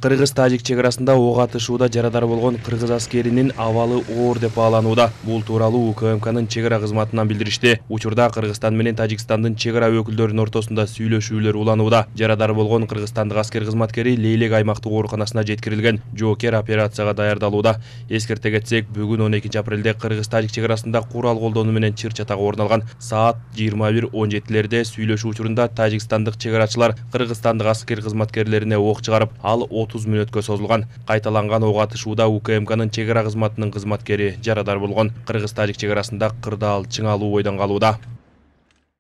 Кыргыз-тажик чек арасында ок атышууда жарадар болгон кыргыз аскеринин абалы оор деп бааланууда. Бул тууралуу УКМКнын чек ара кызматынан билдиришти. Учурда Кыргызстан менен Тажикстандын чек ара өкүлдөрүнүн ортосунда сүйлөшүүлөр уланууда. Жарадар болгон кыргызстандык аскер кызматкери Лейлек аймактык ооруканасына жеткирилген. Жоокер операцияга даярдалууда. Эскерте кетсек, бүгүн 12 апрелде Кыргыз-тажик чек арасында курал колдонуу менен чыр чатак орун алган. Саат 21:17 сүйлөшүү учурунда тажикстандык чек арачылар кыргызстандык аскер кызматкерлерине ок чыгарып, ал 30 мүнөткө созулган. Кайталанган ок атышууда УКМКнын чек ара кызматынын кызматкери жарадар болгон. Кыргыз-тажик чек арасында кырдаал чыңалуу бойдон калууда.